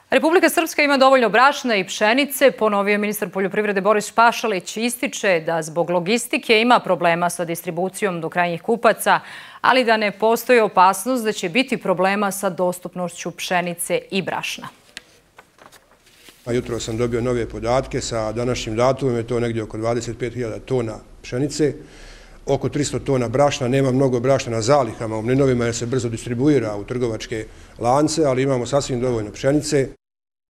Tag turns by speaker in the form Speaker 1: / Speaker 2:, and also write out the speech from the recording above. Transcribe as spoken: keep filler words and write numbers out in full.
Speaker 1: Republika Srpska ima dovoljno brašna i pšenice, ponovio je ministar poljoprivrede Boris Pašalić. Ističe da zbog logistike ima problema sa distribucijom do krajnjih kupaca, ali da ne postoji opasnost da će biti problema sa dostupnošću pšenice i brašna.
Speaker 2: Jutro sam dobio nove podatke, sa današnjim datumom je to negdje oko dvadeset pet hiljada tona pšenice, oko tristo tona brašna. Nema mnogo brašna na zalihama u mlinovima jer se brzo distribuira u trgovačke lance, ali imamo sasvim dovoljno pšenice.